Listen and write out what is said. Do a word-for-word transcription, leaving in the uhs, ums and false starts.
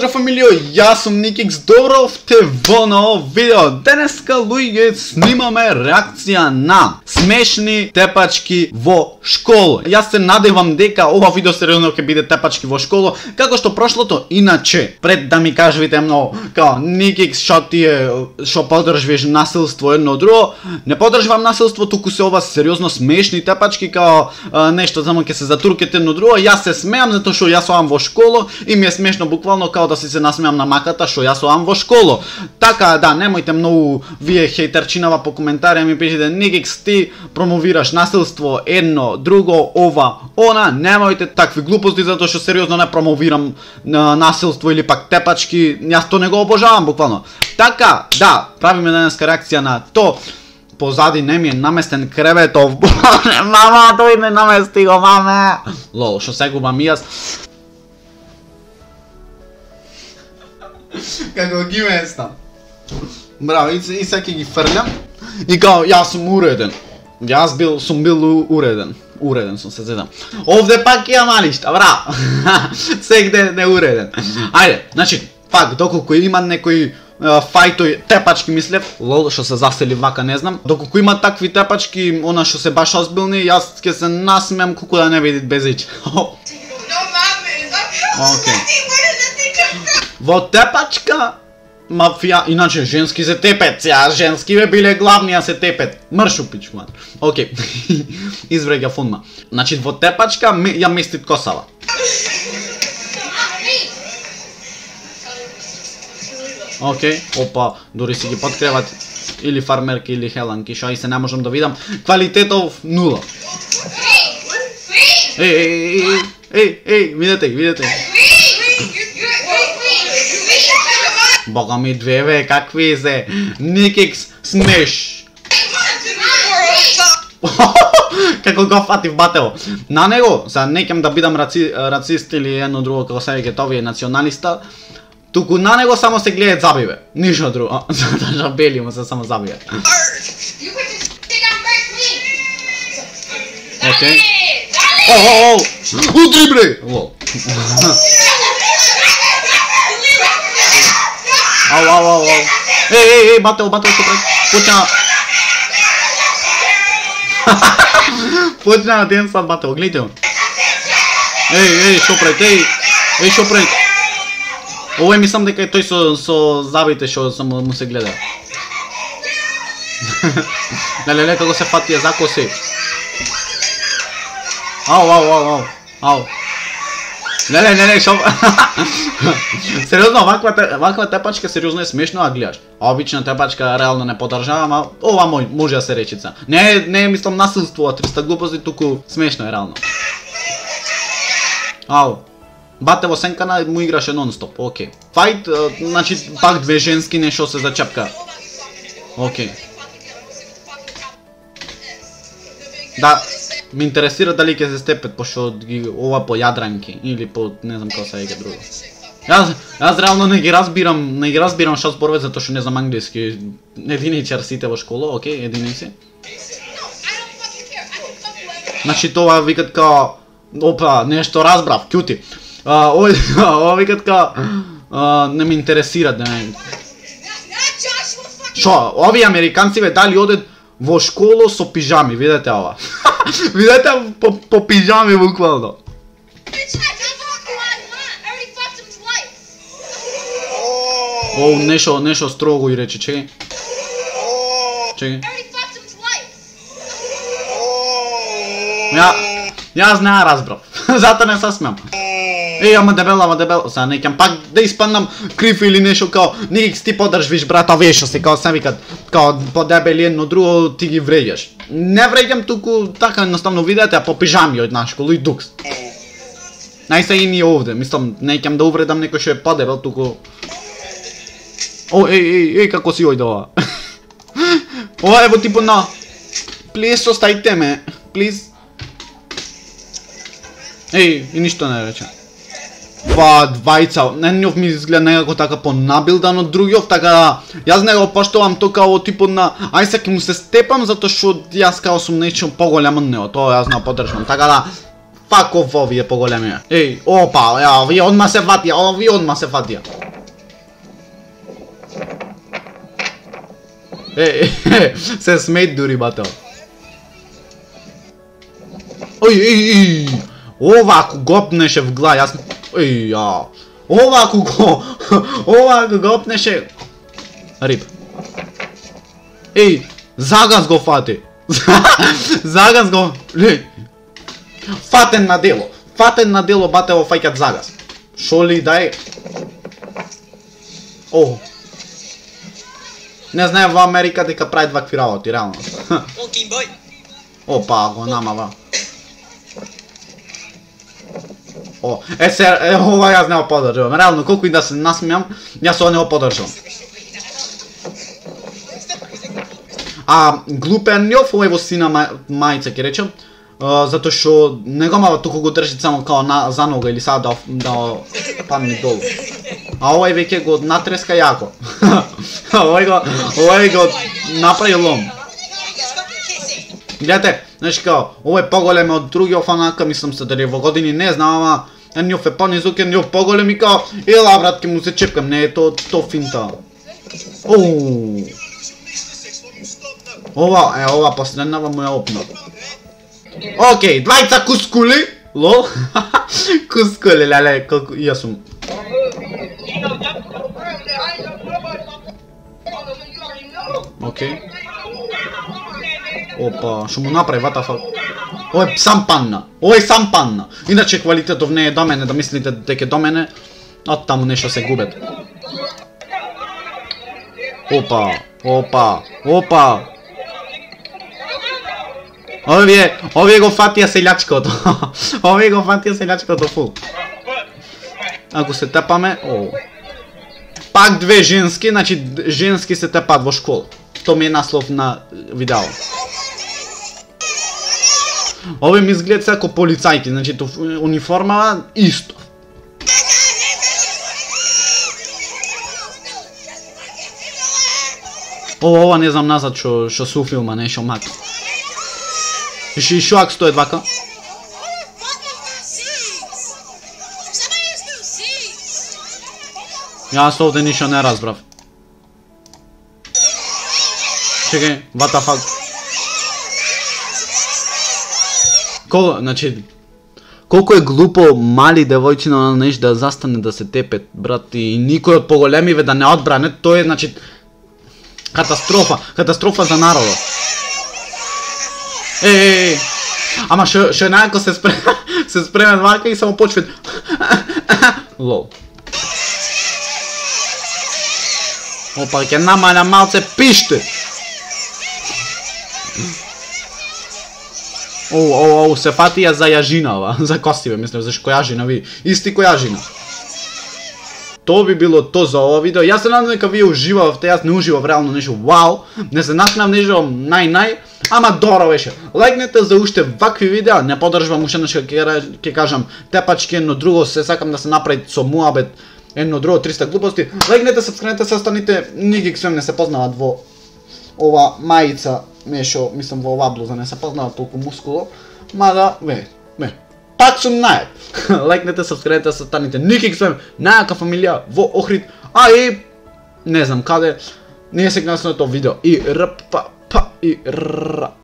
Поздрав фамилио, јас сум Никикс, добровте во ново видео. Денеска луѓе снимаме реакција на смешни тепачки во школа. Јас се надевам дека ова видео сериозно ќе биде тепачки во школа, како што прошлото. Иначе, пред да ми кажете многу, као Никикс, шо ти е, шо поддржуваш насилство едно друго, не поддржувам насилство, туку се ова сериозно смешни тепачки, као а, нешто само ќе се затуркете едно друго. Јас се смеам затоа што јас одам во школа и ми е смешно буквално као да си се насмеам на маката што јас одам во школа. Така да, немојте многу вие хејтерчинава по коментари ми пишете Никикс ти промовираш насилство едно, друго, ова, она, немојте такви глупости затоа што сериозно не промовирам на насилство или пак тепачки, јас то не го обожавам буквално. Така, да, правиме денеска реакција на то. Позади не ми е наместен креветов. Мама, тој не намести го, маме. Лол, што се губам јас. Како ги местам. Браво, и, и секи ги фрлям. И као, јас сум уреден. Јас бил, сум бил уреден. Уреден сум, се зедам. Овде пак ја малишта, браво. Сегде не уреден. Ајде, значи, пак, доколку има некој фајтој тепачки мислев, лол што се засели вака не знам. Доколку има такви тепачки, она што се баш озбилни, јас ќе се насмеам колку да не видит без ич. Океј. Во тепачка мафија, иначе женски се тепет, сега женски бе биле главни а се тепет. Мршу пичман. Океј. Извреќа фунма. Значи во тепачка ја местит косава. Океј, опа, дури си ги подкреват или фармерки или хеланки, шо и се не можам да видам. Квалитетов нула. Еј, еј, еј, еј, еј, видете, видете. Бога ми две бе, какви се? Никикс смеш. Како го фатив батево. На него, сега не ќам да бидам раци, рацист или едно друго како се веќе тоа е националиста. Туку на него само се гледаат забиве. Ништо друго. Затоа што бели му се само забиве. Океј. О, о, о! Удри бре! Лол. Ау, ау, ау, ау. Еј, еј, еј, бател, бател, што пред. Почна. Почна на ден сад бател, гледате го. Еј, еј, што пред, еј. Еј, што пред. Овој мислам дека е тој со, со забите што само му се гледа. Леле, леле, како се фатија за коси. Ау, ау, ау, ау, ау. Леле, леле, шо... Сериозно, ваква, ваква тепачка сериозно е смешно, а гледаш. Обична тепачка реално не подржавам, а ова мој, може да се речица. Не, не мислам насилство, а триста глупости, туку смешно е реално. Ау. Бате во сенкана му играше нон-стоп, окей. Фајт, значи пак две женски нешто се зачепка. Окей. Да, ме интересира дали ќе се степет, пошто ги ова по јадранки или по не знам како се веќе друго. Јас, јас реално не ги разбирам, не ги разбирам што зборуваат затоа што не знам англиски. Единичар сите во школа, окей, единици. Значи тоа викат као, опа, нешто разбрав, кјути. А, ова, ова викат као, не ме интересира, да не... Шо, овие американци бе дали одат во школа со пижами, видете ова. Видете по, по пижами буквално. О, нешто, нешто строго и рече, чекај. Чекај. Ја, јас не разбрав, затоа не се смеам. Еј, ама дебел, ама дебел, сега не ќам пак да испаднам крив или нешто као Никикс ти подржвиш брата вешо се, као се викат, као подебели едно друго ти ги вреѓаш. Не вреѓам туку, така едноставно видете, а по пижами од наш школа и дукс. Најсе и ние овде, мислам, не ќам да увредам некој што е подебел, туку... О, еј, еј, еј, како си ојде ова? Ова е во типу на... Плиз, остајте ме, плиз. Еј, и ништо не рече. Па, двајца, едниот ми изгледа некако така понабилдан од другиот, така да јас не го поштовам тоа као типот на ај се ќе му се степам затоа што јас као сум нечто поголем од него, тоа јас не го поддржувам. Така да fuck off овие поголеми. Еј, опа, ја, овие одма се фатија, овие одма се фатија. Еј, се смејт дури бател. Ој, еј, еј, ова ако гопнеше в глава, јас... Еј, ја, ова ако го... Ова ако гопнеше... Рип. Еј, загаз го фати. Загаз го... Еј. Фатен на дело. Фатен на дело батево фаќат загаз. Шо ли дај? О. Не знае во Америка дека прави вакви работи, реално. Опа, го намава. О, е се, е, ова јас не го подржавам. Реално, колку и да се насмејам, јас ова не го подржавам. А глупен њов, овој во сина мајца ќе речем, затоа што не го мава туку го држи само као на, за нога или сада да, да падне долу. А овој веќе го натреска јако. овој го, овој го направи лом. Гледате, значи као, овој поголем од други офанака, мислам се дали во години не знам, ама њов е понизук, њов поголем и као, ела брат, ке му се чепкам, не е то, то финта. Оу. Ова, е, ова последнава му е опна. Океј, двајца кускули, лол. Кускули, леле, колку, јас сум. Океј. Опа, што му направи, what the fuck? Ој сам панна, ој сам панна. Иначе квалитетов не е до мене, да мислите дека до мене, од таму нешто се губет. Опа, опа, опа. Овие, овие го фатија селјачкото. Овие го фатија селјачкото фул. Ако се тепаме, о. Пак две женски, значи женски се тепат во школа. То ми е наслов на видео. Овие ми изгледат како полицајки, значи то униформава исто. Ова, ова не знам назад што што су филма, не шо мак. И шо ако стои вака? Јас овде ништо не разбрав. Чекај, what the fuck? Кол, значи, колку е глупо мали девојчина на нешто да застане да се тепе, брат, и никој од поголемиве да не одбране, тоа е, значи, катастрофа, катастрофа за народот. Еј, ама шо, шо најако се спреме, се спреме вака и само почвет. Лол. Опа, ќе намаля малце пиште. Оу, оу, оу, се фатија за јажинава, за костиве, мислам, за којажина ви, исти којажина. То би било то за ова видео. Јас се надам дека вие уживавте, јас не уживав реално нешто вау, не се насмеам нешто нај-нај, ама добро беше. Лајкнете за уште вакви видеа, не поддржувам уште нешто ќе кажам тепачки, едно друго се сакам да се направи со муабет, едно друго триста глупости. Лајкнете, сабскрибнете се, останите, никак свем не се познават во ова мајица, нешто, мислам во ова блуза, не се познават толку мускуло, мада, ве, ве. Пак сум најак. Лајкнете, сабскрибнете се, останите, никак свем, најака фамилија во Охрид, а и не знам каде, не е сегнасното видео и рп па па и р.